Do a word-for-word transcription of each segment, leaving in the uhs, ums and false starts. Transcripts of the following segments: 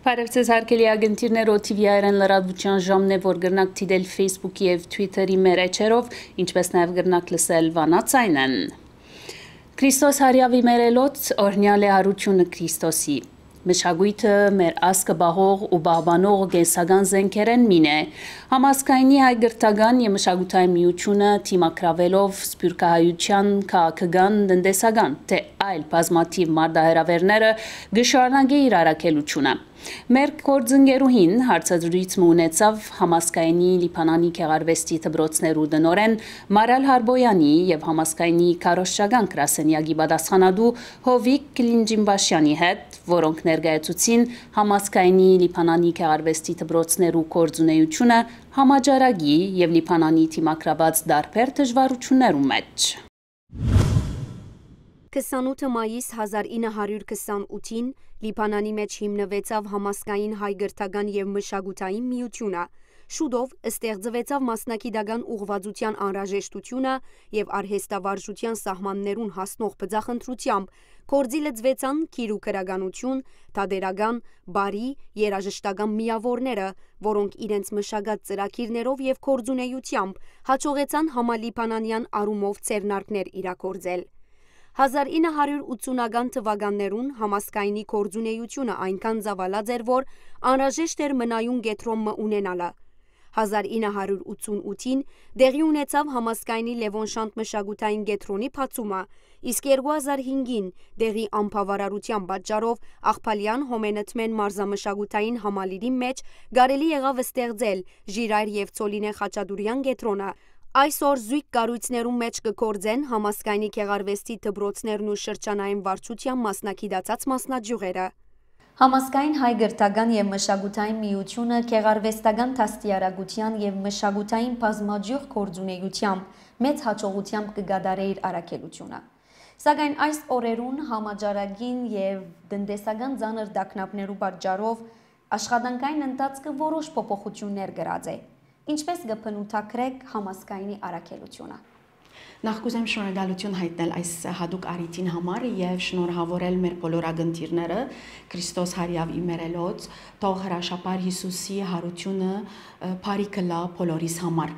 Բարև ձեզ, հարգելի ակնթիրներ, օ թի վի հայերէն լրատվության ժամն է, որ կրնաք դիտել Facebook-ի եւ Twitter-ի մեր էջերով, ինչպես նաեւ կրնաք լսել Վանա Ցայնեն։ Քրիստոս հարիաւի մերելոց օրհնեալ է հարութիւնը Քրիստոսի։ Մշակոյթը մեր ազգը պահող ու պահպանող կենսական զէնքերէն մին է։ Համազգայինի հայ կրթական եւ մշակութային միութիւնը դիմագրաւելով սփիւռքահայութեան քաղաքական, տնտեսական թէ այլ բազմաթիւ մարտահրաւէրները կը շարունակէ իր առաքելութիւնը։ Մեր գործընկերուհին հարցազրոյց մը ունեցաւ Համազգայինի Լիբանանի գեղարուեստի դպրոցներու տնօրէն Մարալ Հարբոյանի եւ Համազգայինի քարոզչական գրասենեակի պատասխանատու Հովիկ Կլինջինբաշյանի հետ, որոնք ներկայացուցին Համազգայինի Լիբանանի գեղարուեստի դպրոցներու գործունեութիւնը համաճարակի եւ Լիբանանի դիմագրաւած տարբեր դժուարութիւններու մէջ։ Քսանութը մայիս հազար ինը հարիւր քսանութին Լիբանանի մէջ հիմնուեցաւ Համազգային հայ կրթական եւ մշակութային միութիւնը։ Շուտով ստեղծուեցաւ մասնագիտական ուղղուածութեան անհրաժեշտութիւնը եւ արհեստավարժութեան սահմաններուն հասնող բծախնդրութեամբ գործի լծուեցան գիր ու գրականութիւն, թատերական, պարի, երաժշտական միաւորները, որոնք իրենց մշակած ծրագիրներով եւ գործունեութեամբ հաջողեցան համալիբանանեան առումով ձեռնարկներ իրագործել։ Հազար ինը հարիւր ութսունական թուականներուն Համազգայինի գործունեութիւնը այնքան ծաւալած էր, որ անհրաժեշտ էր մնայուն կեդրոն մը ունենալը։ Հազար ինը հարիւր ութսունութին տեղի ունեցաւ Համազգայինի Լեւոն Շանթ մշակութային կեդրոնի բացումը, իսկ երկու հազար հինգին տեղի անբաւարարութեան պատճառով Աղբալեան Հոմենտմեն մարզամշակութային համալիրին մէջ կարելի եղաւ ստեղծել Ժիրայր եւ Ցոլինե Խաչատուրեան կեդրոնը։ Այսօր զոյգ կառոյցներուն մէջ կը գործեն Համազգայինի գեղարուեստի դպրոցներն ու շրջանային վարչութեան մասնագիտացած մասնաճիւղերը։ Համազգային հայ կրթական եւ մշակութային միութիւնը գեղարուեստական դաստիարակութեան եւ մշակութային բազմաճիւղ գործունեութեամբ մեծ յաջողութեամբ կը կատարէ իր առաքելութիւնը։ Սակայն այս օրերուն համաճարակին եւ տնտեսական ծանր տագնապներու պատճառով աշխատանքային ընթացքը որոշ փոփոխութիւններ կրած է։ Ինչպէս կը բնութագրէք Համազգայինի առաքելութիւնը։ Նախ կ'ուզեմ շնորհակալութիւն յայտնել այս յատուկ առիթին համար եւ շնորհաւորել մեր բոլոր ակնթիրները Քրիստոս հարիաւ ի մեր էլոց, թող հրաշափառ Յիսուսի յարութիւնը, ը, բարի կլա բոլորիս համար։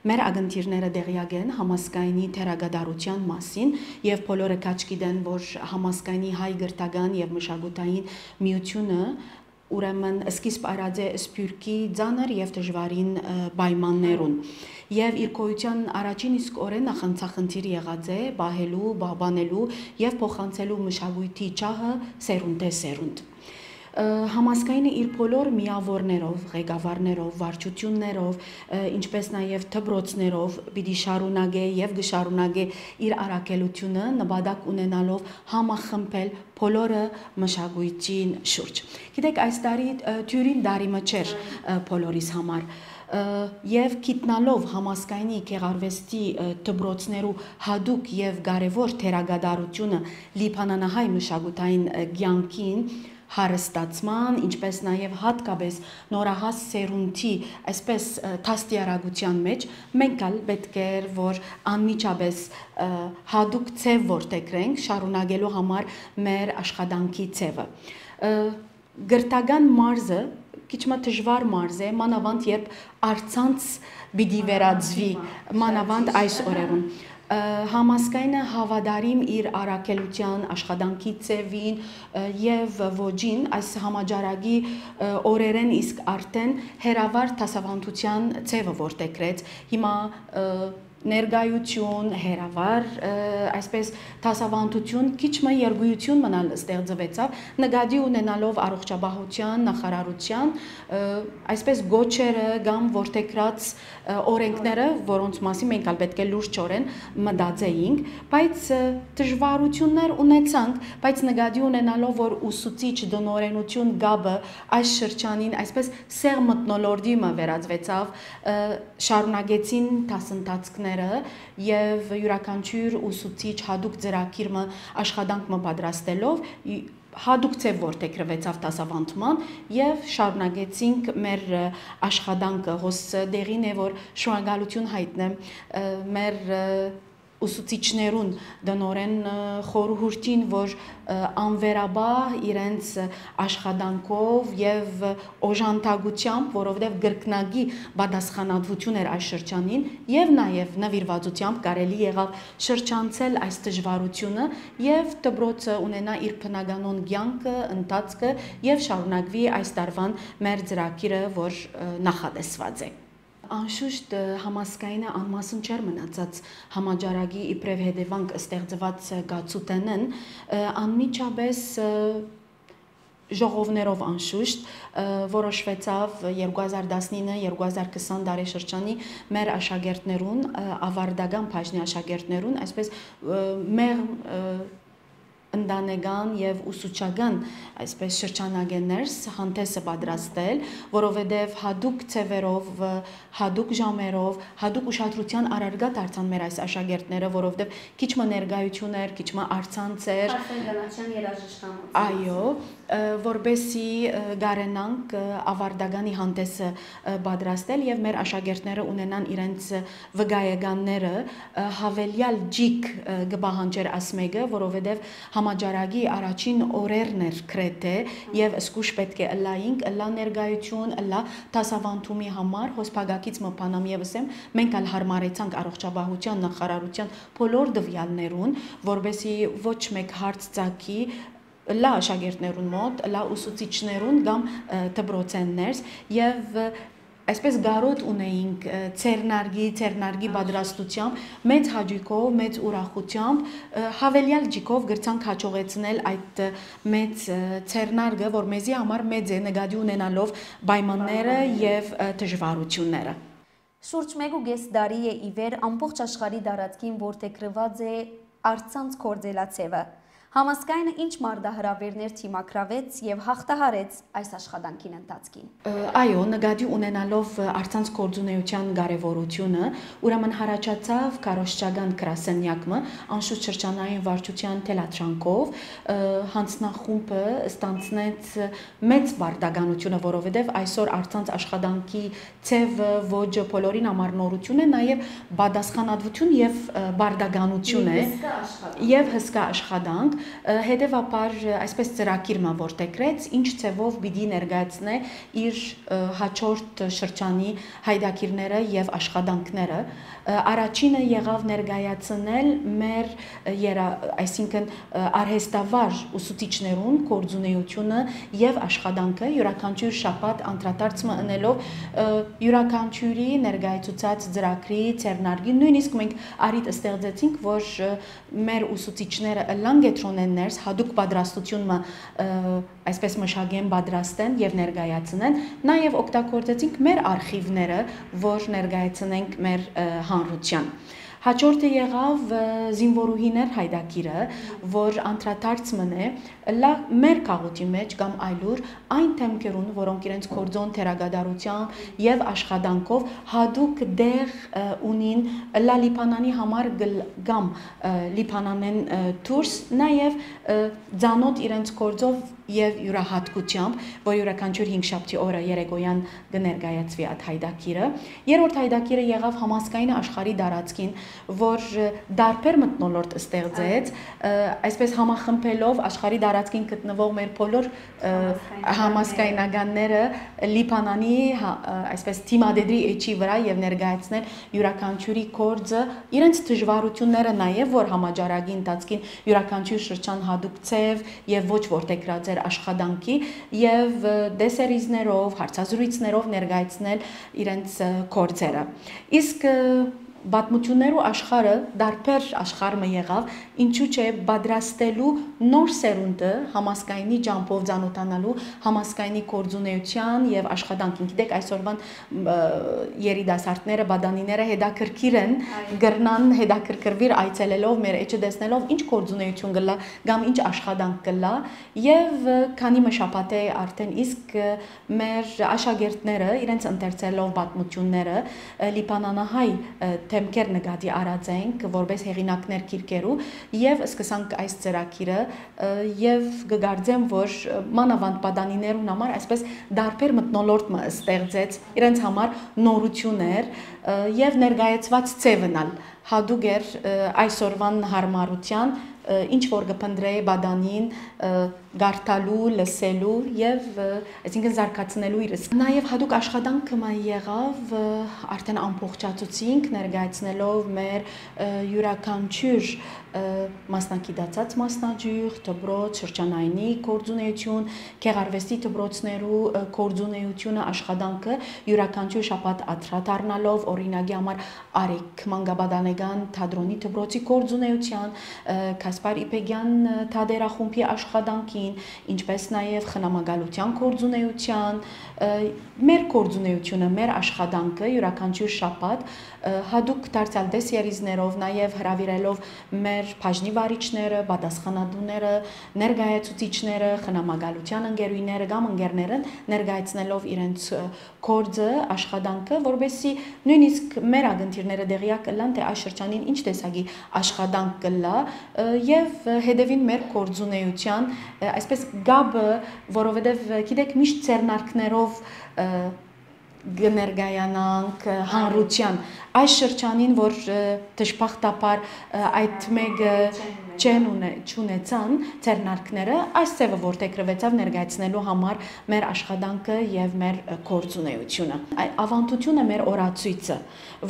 Մեր ակնթիրները տեղյակ են Համազգայինի դերակատարութեան մասին եւ բոլորը քաջ գիտեն, որ Համազգայինի հայ կրթական եւ մշակութային միութիւնը ուրեմն սկիզբ առած է սփիւռքի ծանր եւ դժուարին, ը, պայմաններուն։ Եւ իր գոյութեան առաջին իսկ օրէն նախանցախնդիր եղած է պահելու, պահպանելու եւ փոխանցելու մշակոյթի ջահը սերունդէ սերունդ։ Ը, Համազգայինը իր բոլոր միաւորներով, ղեկավարներով, վարչութիւններով, ը, ինչպէս նաեւ դպրոցներով պիտի շարունակէ եւ կը շարունակէ իր առաքելութիւնը նպատակ ունենալով համախմբել բոլորը մշակոյթին շուրջ։ Գիտեք, այս տարի, ը, դիւրին տարի մը չէր, ը, բոլորիս համար, ը, եւ գիտնալով Համազգայինի գեղարուեստի, ը, դպրոցներու յատուկ եւ կարեւոր դերակատարութիւնը լիբանանահայ մշակութային, ը, կեանքին, հարստացման, ինչպէս նաեւ յատկապէս նորահաս սերունդի, այսպես, ը, դաստիարակութեան մէջ, մենք ալ պէտք էր, որ անմիջապէս, ը, յատուկ ձեւ որդեգրենք շարունակելու համար մեր աշխատանքի ձեւը։ Ը, կրթական մարզը քիչ մը դժուար մարզ է, մանաւանդ երբ առցանց պիտի վերածուի, մանաւանդ այս օրերուն։ Ը, Համազգայինը հաւատարիմ իր առաքելութեան, աշխատանքի ձևին, ը, եւ ոճին, այս համաճարակի, ը, օրերէն իսկ արդէն հերավար դասաւանդութեան ձեւը որդեգրեց։ Հիմա, ը, ներկայություն, հերավար, ը, այսպես դասաւանդութիւն, քիչ մը երգոյութիւն մնալ ստեղծուեցաւ, նկատի ունենալով առողջապահութեան նախարարութեան, ը, այսպես գոչերը կամ որդեգրած, ը, օրենքները, որոնց մասին մենք ալ պէտք է լուրջօրէն մտածեինք, բայց, ը, դժուարութիւններ ունեցանք, բայց նկատի ունենալով, որ ուսուցիչ տնօրենութիւն կապը այս շրջանին այսպես սեղ մթնոլորտի մը վերածուեցաւ, ը, շարունակեցին դասընթացքները եւ իւրաքանչիւր ուսուցիչ յատուկ ծրագիր մը, աշխատանք մը պատրաստելով, ի-, յատուկ ձեւ որդեգրուեցաւ դասաւանդման եւ շարունակեցինք մեր, ը, աշխատանքը։ Հոս տեղին է, որ շնորհակալութիւն յայտնեմ, ը, մեր, ը, ուսուցիչներուն տնօրէն, ը, խորհուրդին, որ, ը, անվերապահ իրենց աշխատանքով եւ օժանդակությամբ, որովհետեւ կրկնակի պատասխանատվություն էր այս շրջանին, եւ նաեւ նվիրվածությամբ կարելի եղաւ շրջանցել այս դժվարությունը եւ դպրոցը ունենայ իր բնականոն կեանքը, ընթացքը եւ շարունակուի այս տարուան մեր ծրագիրը, որ, ը, նախատեսուած է։ Անշուշտ, ը, համազգայինը անմասն չէր մնացած համաճարակի իբրեւ հետեւանք ստեղծուած, ը, կացութենէն, ը, անմիջապէս, ը, ժողովներով անշուշտ, ը, որոշուեցաւ երկու հազար տասնինը, երկու հազար քսան տարեշրջանի մեր աշակերտներուն, ը, աւարտական բաժնի աշակերտներուն, այսպես, ը, մեղմ, ը, ընտանեկան եւ ուսուցչական, այսպես, շրջանակէ ներս հանդէսը պատրաստել, որովհետեւ յատուկ ձեւերով, ը, յատուկ ժամերով, յատուկ ուշադրութեան առարկայ դարձան մեր այս աշակերտները, որովհետեւ քիչ մը ներկայություն էր, քիչ մը առցանց էր։ Արսեն Գանաչեան երաժշտանոցը։ Այո, ը, որպեսզի, ը, կարենանք, ը, աւարտականի հանդէսը, ը, պատրաստել եւ մեր աշակերտները ունենան իրենց, ը, վկայականները, ը, յաւելեալ ջիկ, ը, կը պահանջեր աս մէկը, որովհետեւ համաճարակի առաջին օրերն էր գրեթէ եւ զգուշ պէտք է ըլլայինք, ըլլայ ներկայություն, ըլլայ դասաւանդումի համար, հոս փակագիծ մը բանամ եւ ըսեմ, մենք ալ յարմարեցանք առողջապահութեան նախարարութեան բոլոր տուեալներուն, որպեսզի ոչ մէկ հարց ծագի, ըլլայ աշակերտներուն մօտ, ըլլայ ուսուցիչներուն կամ, ը, դպրոցէն ներս եւ, ը, այսպես կարօտ ունեինք, ը, ձեռնարկի, ձեռնարկի պատրաստությամբ, մեծ հաճոյքով, մեծ ուրախությամբ, ը, յաւելեալ ջիկով կրցանք հաջողեցնել այդ, ը, մեծ, ը, ձեռնարկը, որ մեզի համար մեծ է, նկատի ունենալով պայմանները Պայմանները։ եւ, ը, դժվարությունները։ Շուրջ մէկ ու կէս տարի է ի վեր ամբողջ աշխարհի տարածքին որդեգրուած է առցանց գործելաձեւը։ Համազգայինը ինչ մարտահրաւերներ դիմագրաւեց եւ յաղթահարեց այս աշխատանքին ընթացքին։ Ը, այո, նկատի ունենալով, ը, առցանց գործունեութեան կարեւորութիւնը, ուրեմն յառաջացաւ քարոզչական գրասենեակ մը, անշուշտ շրջանային վարչութեան թելադրանքով, ը, յանձնախումբը ստանձնեց, ը, մեծ պարտականութիւնը, որովհետեւ այսօր առցանց աշխատանքի ձեւը, ոճը բոլորին համար նորութիւն է, նաեւ պատասխանատվութիւն եւ, ը, պարտականութիւն Եւ է, հսկայ աշխատանք։ Եւ հսկայ աշխատանք, ը, հետեւաբար, ը, այսպես ծրագիր մը որդեգրեց, ինչ ձեւով պիտի ներկայացնէ իր, ը, հաջորդ շրջանի յայտագիրները եւ աշխատանքները։ Ը, առաջինը եղաւ ներկայացնել մեր, ը, երա-, այսինքն, ը, արհեստավար ուսուցիչներուն գործունեութիւնը եւ աշխատանքը յուրաքանչիւր շաբաթ անդրադարձ մը ընելով, ը, յուրաքանչիւրի ներկայացուցած ծրագրի, ձեռնարկի, նոյնիսկ մենք առիթ ստեղծեցինք, որ, ը, մեր ուսուցիչները ըլլան կեդրոնէն ներս յատուկ պատրաստութիւն մը, ը, այսպես մշակեն, պատրաստեն եւ ներկայացնեն, նաեւ օգտագործեցինք մեր արխիվները, որ ներկայացնենք մեր, ը, հանրութեան։ Հաջորդը եղաւ, ը, զինվորուհիներ յայտագիրը, որ անդրադարձ մըն է, լա մեր քաղուտի մէջ կամ այլուր այն դեմքերուն, որոնք իրենց գործոն դերակատարությամբ եւ աշխատանքով յատուկ դեղ, ը, ունին, լա Լիբանանի համար գլ-, կամ, ը, Լիբանանէն, ը, դուրս, նաեւ, ը, ծանօթ իրենց գործով եւ յուրահատկությամբ, որ յուրաքանչիւր հինգշաբթի օրը երեկոյան կը ներկայացուի այդ յայտագիրը։ Երրորդ յայտագիրը եղաւ համազգայինը աշխարհի տարածքին, որ, ը, տարբեր մթնոլորտ ստեղծեց, ը, այսպես համախմբելով աշխարհի տարածքին գտնվող մեր բոլոր, ը, Համազգայնականները։ Համազգայնականները Լիբանանի, հա, ը, այսպես թիմադեդրի էջի վրայ եւ ներկայացնել յուրաքանչիւրի գործը, իրենց դժվարությունները նաեւ, որ համաճարակի ընթացքին յուրաքանչիւր շրջան յատուկ ձեւ եւ ոչ որդեգրած էր աշխատանքի, եւ, ը, տեսերիզներով, հարցազրույցներով ներկայացնել իրենց, ը, գործերը։ Իսկ, ը, պատմություններու աշխարհը տարբեր աշխարհ մը եղաւ, ինչու՞ չէ պատրաստելու նոր սերունդը համազգայինի ճամբով ծանօթանալու, համազգայինի գործունեութեան եւ աշխատանքին։ Գիտեք, այսօրվան, ը, երիտասարդները, պատանիները հետաքրքիր են, Այո։ կրնան հետաքրքրուիլ այցելելով, մեր էջը տեսնելով, ինչ գործունեութիւն կ'ըլլայ կամ ինչ աշխատանք կ'ըլլայ, եւ, ը, քանի մը շաբաթ է արդէն իսկ, ը, մեր աշակերտները իրենց ընթերցելով պատմությունները, ը, լիբանանահայ, ը, դեմքեր նկատի առած ենք որպես հեղինակներ գիրքերու, եւ սկսանք այս ծրագիրը, ը, եւ կը կարծեմ, որ, ը, մանաւանդ պատանիներուն համար այսպես տարբեր մթնոլորտ մը ստեղծեց, իրենց համար նորություն էր, Ը, եւ ներկայացուած ձեւն ալ յատուկ էր, ը, այսօրուան յարմարութեան, ը, ինչ որ կը փնտռէ պատանին, ը, կարդալու, լսելու եւ, ը, այսինքն զարգացնելու իրս։ Նաեւ յատուկ աշխատանքը մը եղաւ, ը, արդեն ամբողջացուցինք, ներկայացնելով մեր, ը, իւրաքանչիւր, ը, մասնագիտացած մասնաճիւղ, դպրոց, շրջանայինի գործունեութիւն, գեղարուեստի դպրոցներու, ը, գործունեութիւնը, աշխատանքը իւրաքանչիւր շաբաթ անդրադառնալով, օրինակի համար, Արեգ մանկապատանեկան թատրոնի դպրոցի գործունեութեան, ը, Գասպար Իբեգեան, ը, թատերախումբի աշխատանքին, ինչպէս նաեւ խնամակալութեան գործունեութեան, ը, մեր գործունեութիւնը, մեր աշխատանքը իւրաքանչիւր շաբաթ, ը, յատուկ դարձեալ տեսերիզներով, նաեւ հրաւիրելով մեր բաժնի վարիչները, պատասխանատուները, ներկայացուցիչները, խնամակալութեան ընկերուհիները կամ ընկերները ներկայացնելով իրենց, ը, գործը, աշխատանքը, որպեսզի նոյնիսկ մեր ակնթիռները տեղյակ ըլլան, թէ այս շրջանին ինչ տեսակի աշխատանք կ'ըլլայ, ը, եւ հետեւին մեր գործունեութեան, ը, այսպես կապը, որովհետեւ, ը, գիտեք, միշտ ձեռնարկներով, ը, կը ներկայանանք, ը, հանրութեան։ Այս շրջանին, որ, ը, դժբախտաբար, ը, այդ մէկը չեն ունե-, չունեցան ձեռնարկները, այս ձեւը որդեգրուեցաւ ներկայացնելու համար մեր աշխատանքը եւ մեր, ը, գործունեութիւնը։ Այ-, աւանդութիւնը մեր օրացոյցը,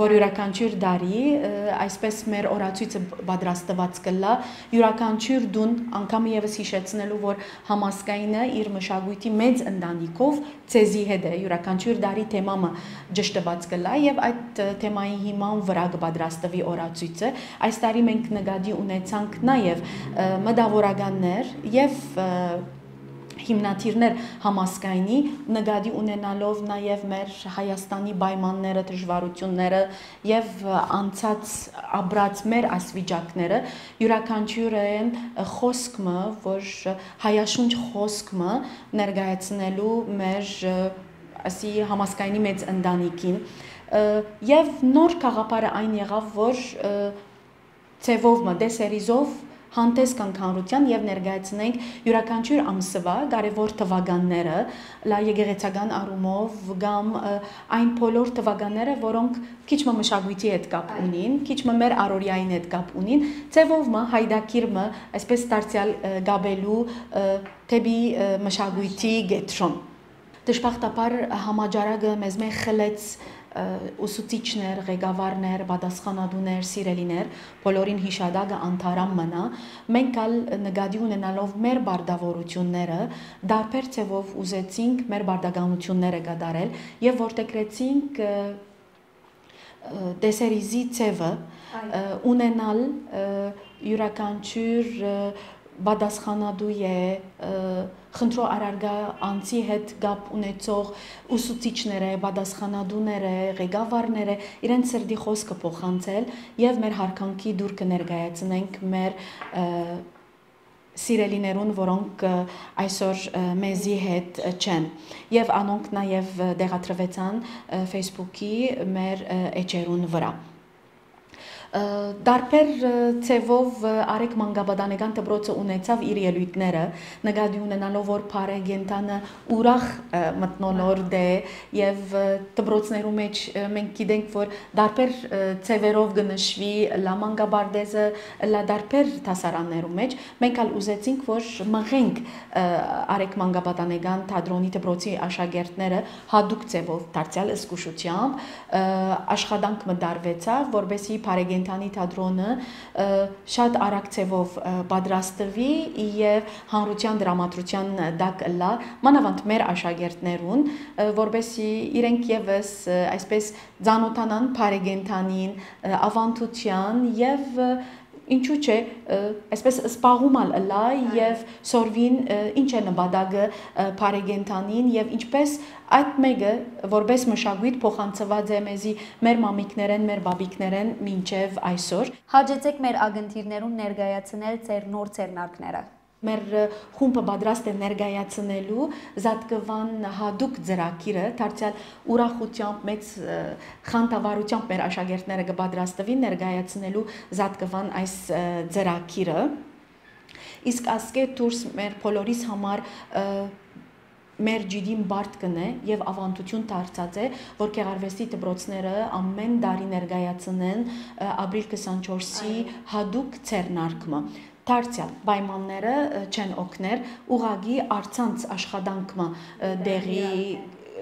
որ իւրաքանչիւր տարի, ը, այսպես մեր օրացոյցը բ-, պատրաստուած կ'ըլլայ, իւրաքանչիւր տուն, անգամ եւս յիշեցնելու, որ Համազգայինը իր մշակոյթի մեծ ընտանիքով ձեզի հետ է, իւրաքանչիւր տարի թեմայ մը ճշդուած կ'ըլլայ եւ այդ, ը, թեմայի հիման վրայ կը պատրաստուի օրացոյցը։ Այս տարի մենք նկատի ունեցանք նաեւ, ը, մտաւորականներ եւ, ը, հիմնադիրներ Համազգայինի, նկատի ունենալով նաեւ մեր Հայաստանի պայմանները, դժուարութիւնները եւ, ը, անցած ապրած մեր ասվիճակները, իւրաքանչիւրէն, ը, խօսք մը, որ, ը, հայաշունչ խօսք մը ներկայացնելու մեր, ը, ասի Համազգայինի մեծ ընտանիքին, ը, եւ նոր գաղափարը այն եղաւ, որ, ը, ձեւով մը, դեսերիզով հանդես գանք հանրութեան եւ ներկայացնենք իւրաքանչիւր ամսուայ կարեւոր թուականները, լա եկեղեցական առումով կամ, ը, այն բոլոր թուականները, որոնք քիչ մը մշակոյթի հետ կապ Այո։ ունին, քիչ մը մեր առօրեային հետ կապ ունին, ձեւով մը, յայտագիր մը, այսպես դարձեալ, ը, կապելու, ը, դէպի, ը, մշակոյթի կեդրոն։ Դժբախտաբար, համաճարակը մեզմէ խլեց, ը, ուսուցիչներ, ղեկավարներ, պատասխանատուներ, սիրելիներ, բոլորին յիշատակը անդարամ մնայ։ Մենք ալ նկատի ունենալով մեր պարտաւորութիւնները, տարբեր ձեւով ուզեցինք մեր պարտականութիւնները կատարել եւ որդեգրեցինք, ը, ը, տեսերիզի ձևը, Այո։ ը, ունենալ, ը, իւրաքանչիւր, ը, պատասխանատու է, ը, խնդրոյ առարկայ անձի հետ կապ ունեցող ուսուցիչները, պատասխանատուները, ղեկավարները, իրենց սրտի խօսքը փոխանցել եւ մեր յարգանքի տուրքը ներկայացնենք մեր, ը, սիրելիներուն, որոնք, ը, այսօր, ը, մեզի հետ, ը, չեն։ Եւ անոնք նաեւ, ը, տեղադրուեցան, ը, Facebook-ի մեր, ը, էջերուն վրայ։ Ը, տարբեր, ը, ձևով, ը, Արեգ մանկապատանեկան դպրոցը ունեցաւ իր ելոյթները, նկատի ունենալով, որ բարեկենդանը ուրախ, ը, մթնոլորտ է, եւ, ը, դպրոցներու մէջ, ը, մենք գիտենք, որ տարբեր, ը, ձևերով կը նշուի, լա մանկապարտեզը, լա տարբեր դասարաններու մէջ, մենք ալ ուզեցինք, որ մղենք, ը, Արեգ մանկապատանեկան թատրոնի դպրոցի աշակերտները յատուկ ձևով դարձեալ զգուշությամբ, ը, աշխատանք մը տարուեցաւ, որպեսզի բարեկենդանի թատրոնը, ը, շատ արագ ձևով, ը, պատրաստուի եւ հանրութեան տրամադրութեան տակ ըլլայ, մանաւանդ մեր աշակերտներուն, ը, որպեսզի իրենք եւս, ը, այսպես ծանօթանան բարեկենդանին, ը, աւանդութեան եւ, ը, ինչու՞ չէ, ը, այսպես զբաղում ալ ըլլայ Այո։ եւ սորվին, ը, ինչ է նպատակը, ը, բարեկենդանին եւ ինչպես այդ մէկը, որպես մշակոյթ փոխանցուած է մեզի մեր մամիկներէն, մեր պապիկներէն մինչեւ այսօր։ Հաճեցեք մեր ակնթիռներուն ներկայացնել ձեր նոր ձեռնարկները։ Մեր, ը, խումբը պատրաստ է ներկայացնելու Զատկուան յատուկ ծրագիրը, դարձեալ ուրախութեամբ, մեծ, ը, խանդավառութեամբ մեր աշակերտները կը պատրաստուին ներկայացնելու Զատկուան այս, ը, ծրագիրը։ Իսկ ասկէ դուրս մեր բոլորիս համար, ը, Մեր ջիդին բարդ կ'ընէ եւ աւանդութիւն դարձած է, որ գեղարուեստի դպրոցները ամէն տարի ներկայացնեն, ը, ապրիլ քսանչորսի Այո։ Յատուկ ձեռնարկը։ Դարձեալ պայմանները, ը, չեն օգներ, ուղղակի առցանց աշխատանք մը, ը, Դեղի տեղի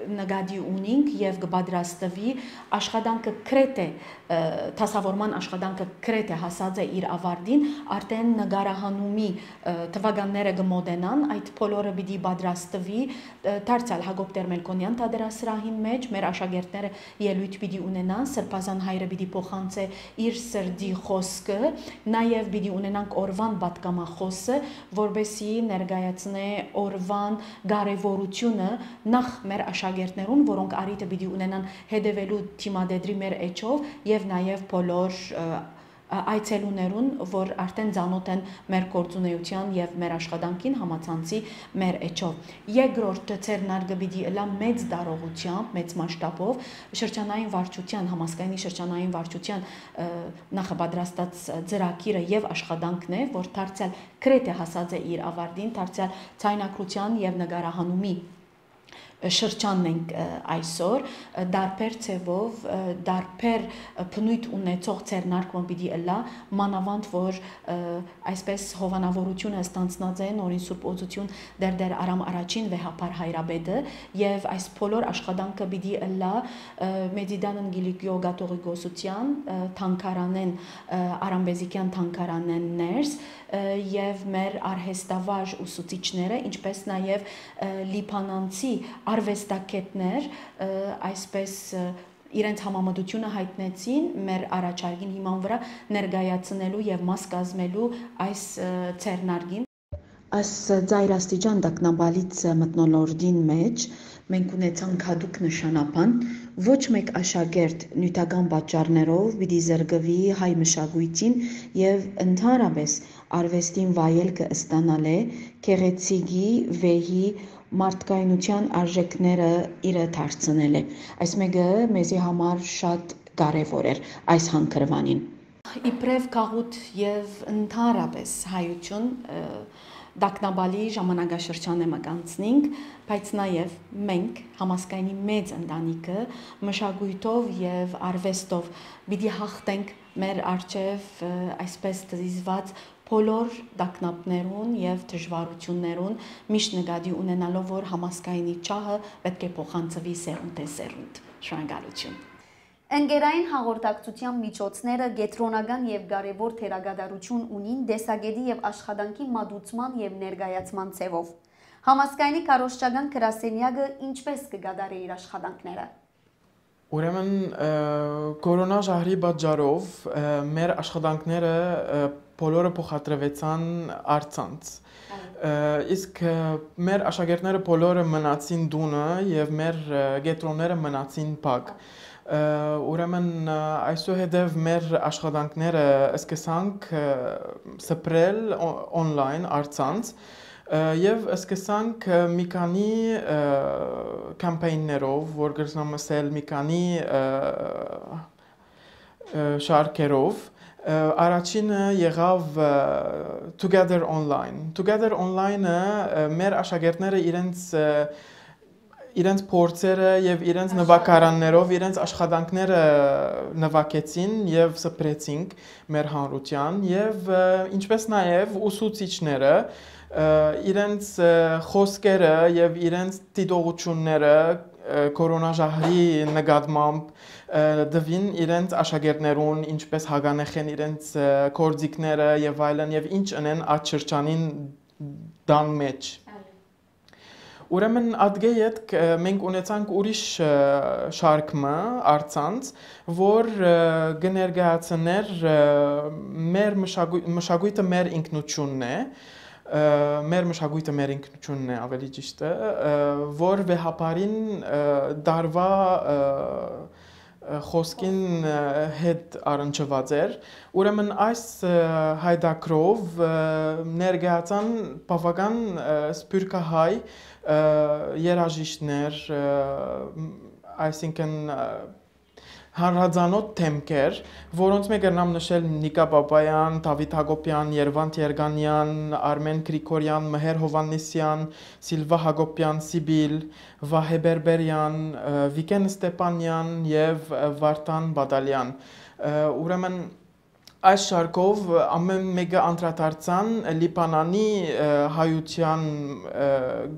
նկատի ունինք եւ կը պատրաստուի, աշխատանքը գրեթէ, ը, դասաւորման աշխատանքը գրեթէ հասած է իր աւարտին, արդէն նկարահանումի, ը, թվականները կը մօտենան, այդ բոլորը պիտի պատրաստուի, ը, դարձեալ Յակոբ Տեր-Մելքոնեան թատերասրահին մէջ, մեր աշակերտները ելոյթ պիտի ունենան, Սրբազան Հայրը պիտի փոխանցէ իր սրտի խօսքը, նաեւ պիտի ունենանք օրուան պատգամախօսը, որպէսզի ներկայացնէ օրուան կարեւորութիւնը նախ մեր աշակերտներուն, որոնք առիթը պիտի ունենան հետեւելու դիմատետրի մեր էջով եւ նաեւ բոլոր, ը, ա-, այցելուներուն, որ արդէն ծանօթ են մեր գործունեութեան եւ մեր աշխատանքին համացանցի մեր էջով։ Երկրորդ ձեռնարկը պիտի ըլլայ մեծ տարողութեամբ, մեծ մասշտաբով շրջանային վարչութեան, համազգայինի շրջանային վարչութեան, ը, նախապատրաստած ծրագիրը եւ աշխատանքն է, որ դարձեալ գրեթէ հասած է իր աւարտին, դարձեալ ցայնագրութեան եւ նկարահանումի շրջանն ենք, ը, այսօր, ը, տարբեր ձևով, ը, տարբեր, ը, բնոյթ ունեցող ձեռնարկը պիտի ըլլայ, մանաւանդ որ, ը, այսպես հովանաւորութիւնը ստանձնած է նորին Սուրբ Օծութիւն Տէր Տէր Արամ Առաջին վեհափառ հայրապետը, եւ այս բոլոր աշխատանքը պիտի ըլլայ, ը, Մեծիդան Կիլիկիոյ կաթողիկոսութեան, ը, թանգարանէն, ը, Արամբեզիկեան թանգարանէն ներս, ը, եւ մեր արհեստավար ուսուցիչները, ինչպէս նաեւ, ը, լիբանանցի արուեստագետներ, ը, այսպես, ը, իրենց համամտութիւնը յայտնեցին մեր առաջարկին հիման վրայ ներկայացնելու եւ մաս կազմելու այս, ը, ձեռնարկին։ Այս ծայրաստիճան տագնապալից մթնոլորտին մէջ մենք ունեցանք յատուկ նշանաբան։ Ոչ մէկ աշակերտ նիւթական պատճառներով պիտի զրկուի հայ մշակոյթին եւ ընդհանրապէս արուեստին վայելքը ստանալէ, գեղեցիկի, վեհի, մարդկայնութեան արժէքները իրը դարձնելէ։ Այս մէկը մեզի համար շատ կարեւոր էր այս հանգրուանին։ Իբրեւ գաղութ եւ ընդհանրապէս հայութիւն, ը, տագնապալի ժամանակաշրջան մը կանցնինք, բայց նաեւ մենք, համազգայինի մեծ ընտանիքը, մշակոյթով եւ արուեստով պիտի յաղթենք մեր առջեւ, ը, այսպես դիզուած բոլոր տագնապներուն եւ դժուարութիւններուն, միշտ նկատի ունենալով, որ համազգայինի ջահը պէտք է փոխանցուի սերունդէ սերունդ։ Շնորհակալութիւն։ Ընկերային հաղորդակցութեան միջոցները կեդրոնական եւ կարեւոր դերակատարութիւն ունին տեսակէտի եւ աշխատանքի մատուցման եւ ներկայացման ձեւով։ Համազգայինի քարոզչական գրասենեակը ինչպէս կը կատարէ իր աշխատանքները։ Ուրեմն, ը, կորոնա ժահրի պատճառով, ը, մեր աշխատանքները, ը, բոլորը փոխադրուեցան առցանց։ Այո։ Ը, իսկ, ը, մեր աշակերտները բոլորը մնացին տունը եւ մեր, ը, կեդրոնները մնացին փակ։ Ը, ուրեմն, ը, այսուհետեւ մեր աշխատանքները սկսանք, ը, սփռել օ-, օնլայն առցանց, ը, եւ սկսանք, ը, մի քանի, ը, կամպեյններով, որ կրնամ ասել, մի քանի, ը, ը, շարքերով։ Ը, առաջինը եղաւ, ը, Together Online։ Together Online-ը, ը, մեր աշակերտները իրենց, ը, իրենց փորձերը եւ իրենց Աշխատանք։ նուագարաններով, իրենց աշխատանքները նուագեցին եւ սփռեցինք մեր հանրութեան եւ, ը, ինչպես նաեւ ուսուցիչները, ը, իրենց, ը, խօսքերը եւ իրենց դիտողությունները, ը, կորոնա ժահրի նկատմամբ, ը, տուին իրենց աշակերտներուն, ինչպես հագանեխ են իրենց, ը, գործիքները եւ այլն, եւ ինչ ընեն այդ շրջանին տան մէջ։ Այո։ Ուրեմն ատկէ ետք, ը, մենք ունեցանք ուրիշ, ը, շարք մը առցանց, որ, ը, կը ներկայացներ, ը, մեր մշակոյ-, մշակոյթը մեր ինքնությունն է, ը, մեր մշակոյթը մեր ինքնությունն է, ավելի ճիշտ է, ը, որ վեհափառին, ը, դարվա, ը, ը, խօսքին, ը, հետ առնչուած էր։ Ուրեմն այս, ը, հայդակրով, ը, ներկայացան բաւական, ը, սփիւռքահայ, ը, երաժիշտներ, ը, մ-, այսինքն, ը, Հանրածանօթ դեմքեր, որոնց մէջ կրնամ նշել Նիկա Բաբաեան, Դաւիթ Յակոբեան, Երուանդ Երկանեան, Արմէն Գրիգորեան, Մհեր Յովհաննիսեան, Սիլվա Յակոբեան, Սիպիլ, Վահէ Պէրպէրեան, Վիգէն Ստեփանեան եւ Վարդան Պատալեան։ Ուրեմն, այս շարքով ամէն մէկը անդրադարձան Լիբանանի հայութեան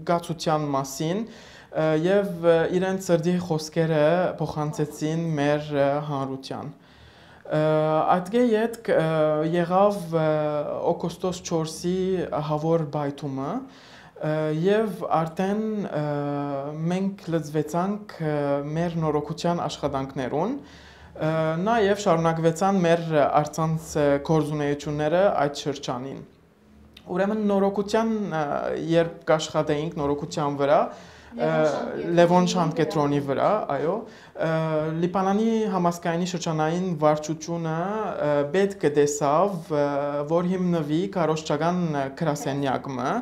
կացութեան մասին, եւ իրենց սրտի խօսքերը փոխանցեցին մեր հանրութեան։ Ատկէ ետք եղաւ օգոստոս չորսի ահաւոր պայթումը, եւ արդէն մենք լծուեցանք մեր նորոգութեան աշխատանքներուն, նաեւ շարունակուեցան մեր առցանց գործունէութիւնները այդ շրջանին։ Ուրեմն նորոգութեան, երբ կաշխատեինք նորոգութեան վրայ, Լեւոն Շանթ Լեւոն Շանթ կեդրոնի կեդրոնի վրայ, այո, Լիբանանի համազգայինի շրջանային վարչութիւնը պետք կը տեսաւ, որ հիմնուի քարոզչական գրասենեակ մը,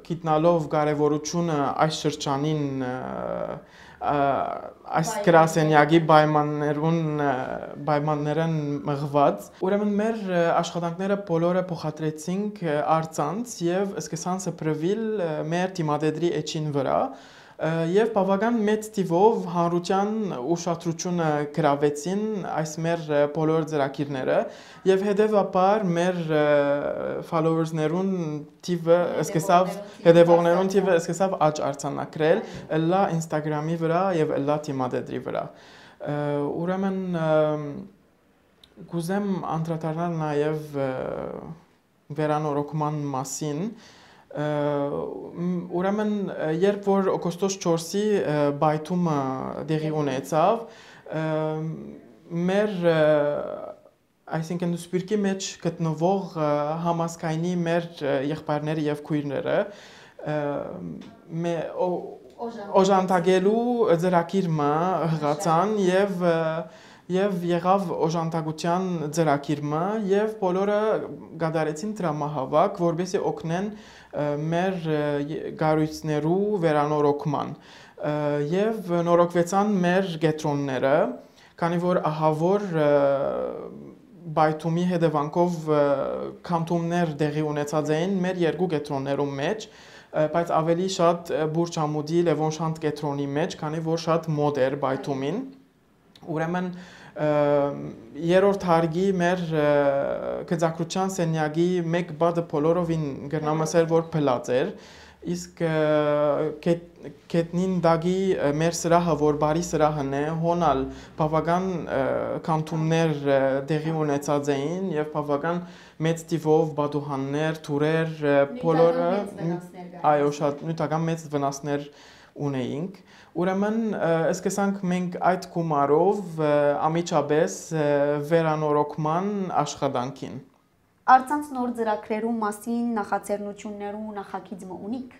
գիտնալով կարեւորութիւնը այս շրջանին, այս գրասենեակի պայմաններուն, պայմաններէն մղուած։ Ուրեմն մեր աշխատանքները բոլորը փոխադրեցինք առցանց եւ սկսան սփռուիլ մեր դիմատետրի էջին վրայ, եւ բաւական մեծ թիւով հանրութեան ուշադրութիւնը գրաւեցին այս մեր բոլոր ծրագիրները, եւ հետեւաբար մեր followers-ներուն թիւը սկսաւ, հետեւողներուն հետեւողներուն թիւը սկսաւ աճ արձանագրել, ըլլայ Instagram-ի վրայ եւ ըլլայ դիմատետրի վրայ։ Ուրեմն, կուզեմ անդրադառնալ նաեւ վերանորոգման մասին։ Ուրեմն, երբ որ օգոստոս չորսի պայթումը տեղի ունեցաւ, մեր, այսինքն, սփիւռքի մէջ գտնուող համազգայինի մեր եղբայրները եւ քոյրները օժանդակելու ծրագիր մը յղացան եւ, եւ եղաւ օժանդակութեան ծրագիր մը, եւ բոլորը կատարեցին դրամահաւաք, որպեսզի օգնեն մեր կառոյցներու վերանորոգման, եւ նորոգուեցան մեր կեդրոնները, քանի որ ահաւոր պայթումի հետեւանքով քանդումներ տեղի ունեցած էին մեր երկու կեդրոններուն մէջ, բայց ավելի շատ Պուրճ Ամուտի Լեւոն Շանթ կեդրոնի մէջ, քանի որ շատ մոտ էր պայթումին։ Ուրեմն, երրորդ հարկի մեր գծագրութեան սենեակի մէկ պատը բոլորովին կրնամ ըսել որ փլած էր, իսկ գետնին տակի մեր սրահը, որ բարի սրահն է, հոն ալ բաւական քանդումներ տեղի ունեցած էին եւ բաւական մեծ թիւով պատուհաններ, թուրեր, բոլորը, այո, շատ նիւթական մեծ վնասներ ունեինք։ Ուրեմն, սկսանք մենք այդ գումարով անմիջապէս վերանորոգման աշխատանքին։ Առցանց նոր ծրագրերու մասին նախաձեռնութիւններու նախագիծ մը ունիք։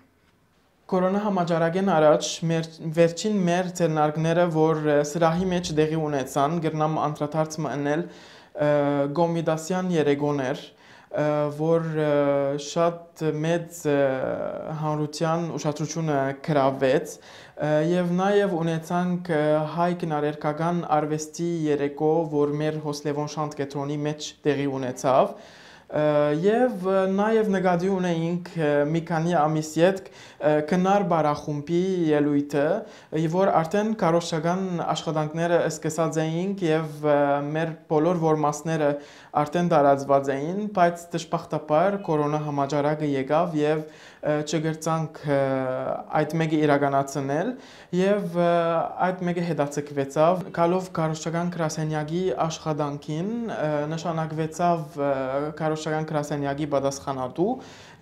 Կորոնա համաճարակէն առաջ մեր, վերջին մեր ձեռնարկները, որ սրահի մէջ տեղի ունեցան, կրնամ անդրադարձ մը ընել Կոմիտասեան երեկոներ, որ շատ մեծ հանրութեան ուշադրութիւնը գրաւեց, եւ նաեւ ունեցանք հայ քնարերգական արուեստի երեկո, որ մեր Հոսլեվոն Շանթ կեդրոնի մէջ տեղի ունեցաւ, եւ նաեւ նկատի ունեինք մի քանի ամիս ետք Քնար պարախումբի ելոյթը, որ արդէն քարոզչական աշխատանքները սկսած էինք եւ մեր բոլոր որմասները արդէն տարածուած էին, բայց դժբախտաբար կորոնա համաճարակը եկաւ եւ չկրցանք այդ մէկը իրականացնել, եւ այդ մէկը հետաձգուեցաւ գալով քարոզչական գրասենյակի աշխատանքին, նշանակուեցաւ քարոզչական գրասենյակի պատասխանատու,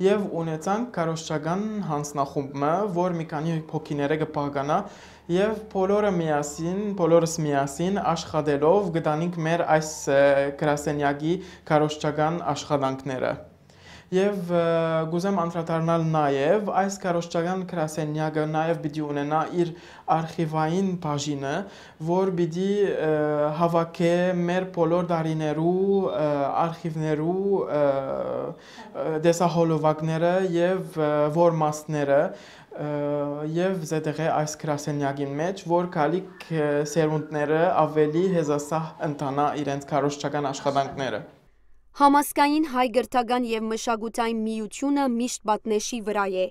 եւ ունեցանք քարոզչական յանձնախումբ մը, որ մի քանի հոգիներէ կը բաղկանայ, եւ բոլորը միասին, բոլորս միասին աշխատելով կտանինք մեր այս գրասենյակի քարոզչական աշխատանքները։ Եւ, ը, կ'ուզեմ անդրադառնալ նաեւ, այս քարոզչական գրասենեակը նաեւ պիտի ունենայ իր արխիվային բաժինը, որ պիտի, ը, հաւաքէ մեր բոլոր տարիներու, ը, արխիվներու, ը, ը, տեսահոլովակները եւ, ը, որմաստները, ը, եւ զետեղէ այս գրասենեակին մէջ, որ գալիք, ը, սերունդները աւելի հեզասահ ընթանայ իրենց քարոզչական աշխատանքները։ Համազգային հայ կրթական եւ մշակութային միութիւնը միշտ պատնէշի վրայ է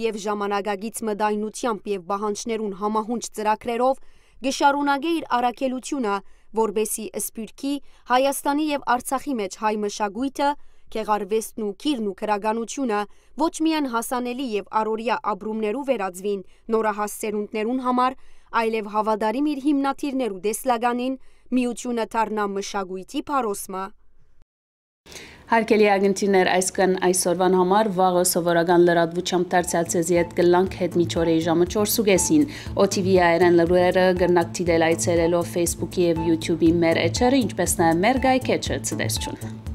եւ ժամանակակից մտայնութեամբ եւ պահանջներուն համահունչ ծրագրերով կը շարունակէ իր առաքելութիւնը, որպէսզի Սփիւռքի, Հայաստանի եւ Արցախի մէջ հայ մշակոյթը, գեղարուեստն ու գիրն ու գրականութիւնը ոչ միայն հասանելի եւ առօրեայ ապրումներու վերածուին նորահաս սերունդներուն համար, այլեւ հաւատարիմ իր հիմնադիրներու տեսլականին, միութիւնը դառնայ մշակոյթի փարոսմը։ Հարգելի ակնթիներ, այսքան այսօրուան համար, վաղը սովորական լրատվութեամբ դարձեալ ձեզի հետ կ'ըլլանք, հետ միջօրեի ժամը չորս ու կէսին։ O T V հայերէն լուրերը կրնաք դիտել այցելելով Facebook-ի եւ YouTube-ի մեր էջերը, ինչպէս նաեւ մեր կայքէջը։ Ցտեսութիւն։